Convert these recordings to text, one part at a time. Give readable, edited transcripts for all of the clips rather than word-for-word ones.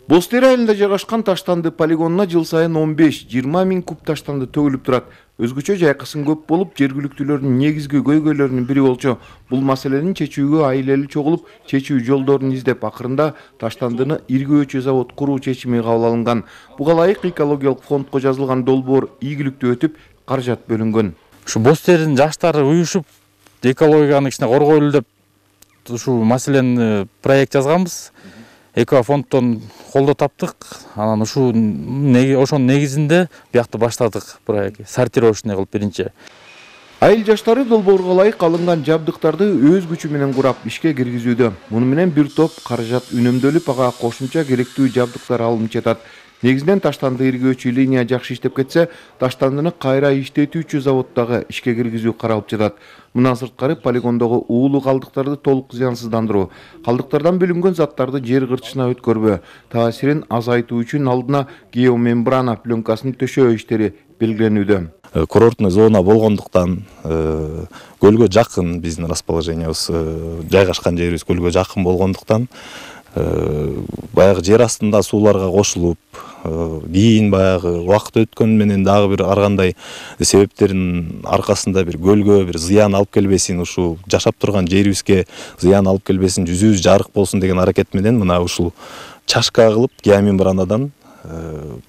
Боз Тери айылында жайгашкан таштанды полигонуна жыл сайын 15-20 миң куб таштанды төгүлүп турат. Өзгөчө жайкысын көп болуп, жергиликтүүлөрдүн негизги көйгөйлөрүнүн бири болчу. Бул маселени чечүүгө айыл-эли чогулуп, чечүү жолдорун издеп, акырында таштандыны иргөөчү завод куруу чечими кабыл алынган. Буга ылайык экологиялык фондко жазылган долбоор ийгиликтүү өтүп, каражат бөлүнгөн. Ушу Боз Теринин жаштары уюшуп, экологияны кичине коргойлу деп ушу маселени проект жазганбыз. Экофонддон колдоо таптык. Анан ошонун негизинде биякты баштадык проект. Сортировочный кылып биринчи. Айыл жаштары долбоорго ылайык алынган жабдыктарды өз күчү менен курап ишке киргизүүдө. Муну менен бир топ каражат үнөмдөлүп, ага кошумча керектүү жабдыктар алынып жатат. Негизинен таштанды иргөөчү линия жакшы иштеп кетсе, таштандыны кайра иштетүүчү заводдогу ишке киргизүү каралып жатат. Мындан сырткары полигондогу уулуу калдыктарды толук зыянсыздандыруу, калдыктардан бөлүнгөн заттарды жер кырчысына өткөрбөө, таасирин азайтуу үчүн алдына геомембрана пленкасын төшөө иштери белгиленүүдө. Курортный зона болгондуктан көлгө жакын биздин расположениябыз, жайгашкан жерибиз көлгө жакын болгондуктан баягы жер астында сууларга кошулуп, кийин баягы убакыт өткөн менен дагы бир ар кандай себептердин аркасында бир көлгө бир зыян алып келбесин, ушул жашап турган жерибизге зыян алып келбесин, жүзүбүз жарык болсун деген аракет менен мына ушул чашка кылып геомембранадан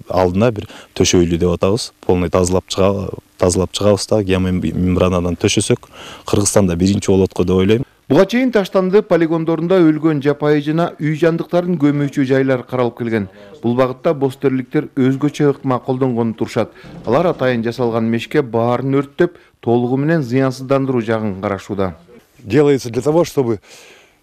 алдына бир төшөйлү деп атабыз. Полный тазалап чыгабыз да геомембранадан төшөсөк, Кыргызстанда биринчи болот го деп ойлойм. Буга чейин таштанды полигондорунда өлгөн жапайы жана үй жандыктарын көмүүчү жайлар каралып келген. Бул багытта боз терликтер өзгөчө ыкма колдонгонун турушат. Алар атайын жасалган мешке баарын өрттөп, толугу менен зыянсыздандыруу жагын карашууда. Делается для того, чтобы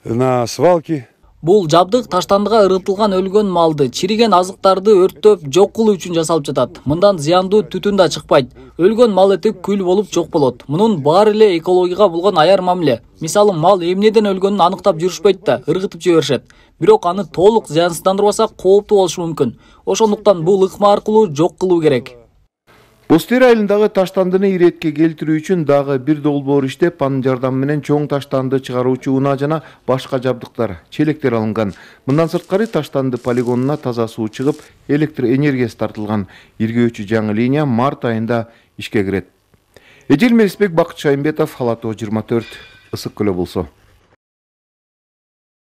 на свалке Бул жабдык таштандыга ырытылган өлгөн малды, чириген азыктарды өрттөп жок кылуу үчүн жасалып жатат. Мындан зыяндуу түтүн да чыкпайт. Өлгөн мал эти күл болуп жок болот. Мунун баары эле экологияга болгон аяр мамиле. Мисалы, мал эмнеден өлгөнүн аныктап жүрүшпөйт да, ыргытып жиберишет. Бирок аны толук зыянсыздандырбасак кооптуу болушу мүмкүн. Ошондуктан бул ыкма аркылуу жок кылуу керек. Боз Тери айылындагы таштандыны иретке келтирүү үчүн дагы бир долбоор иштеп, анын жардамы менен чоң таштанды чыгаруучу унаа жана башка жабдыктар, челектер алынган. Мындан сырткары таштанды полигонуна таза суу чыгып, электр энергиясы тартылган. Иргөөчү жаңы линия март айында ишке кирет. Эжил Мелисбек, Бакыт Шайымбетов, Ала Тоо 24, Ысык Көл облусу.